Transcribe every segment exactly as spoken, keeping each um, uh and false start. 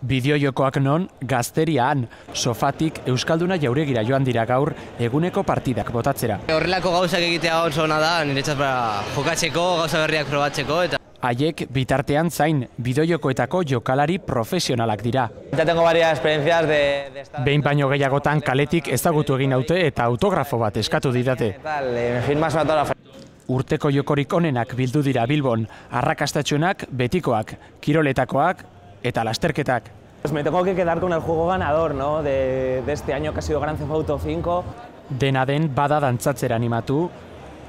Bideojokoak non, gazterian, sofatik Euskalduna jauregira joan dira gaur eguneko partidak botatzera. Horrelako gauzak egitea oso ona da, niretzat jokatzeko, gauza berriak probatzeko. Eta... Haiek bitartean zain, bideojokoetako jokalari profesionalak dira. Ya tengo varias experiencias de... de estar... Behin baino gehiagotan kaletik ezagutu egin naute eta autografo bat eskatu didate. Me firmas autógrafo. Urteko jokorik onenak bildu dira Bilbon, arrakastatxuenak, betikoak, kiroletakoak eta lasterketak. Pues me tengo que quedar con el juego ganador, ¿no? de, de este año que ha sido Grand Theft Auto cinco. Dena den bada dantzatzera animatu,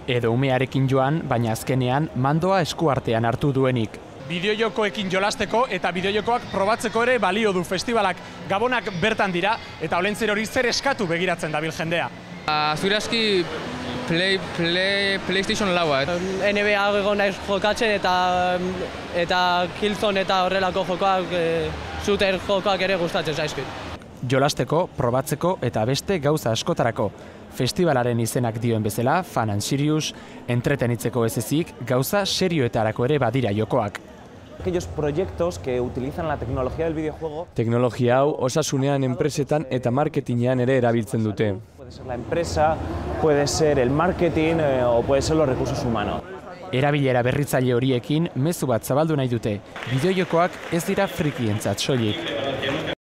edo umearekin joan, baina azkenean mandoa eskuartean hartu duenik. Bideojokoekin jolasteko eta bideojokoak probatzeko ere balio du festivalak. Gabonak bertan dira eta olentzer hori zer eskatu begiratzen dabil jendea. Zure aski play, play, PlayStation laua. N B A egon naiz jokatzen eta, eta Killzone eta horrelako jokoak, e, shooter jokoak ere gustatzen zaizkit. Jolasteko, probatzeko eta beste gauza askotarako. Festivalaren izenak dioen bezala, Fun and Serious, entretenitzeko ez ezik, gauza serioetarako ere badira jokoak. Aquellos proyectos que utilizan la tecnología del videojuego. Teknologia hau osasunean, enpresetan eta marketingean ere erabiltzen dute. Puede ser la empresa, puede ser el marketing eh, o puede ser los recursos humanos. Erabilera berritzaile horiekin mezu bat zabaldu nahi dute. Bideojokoak ez dira frikientzat soilik.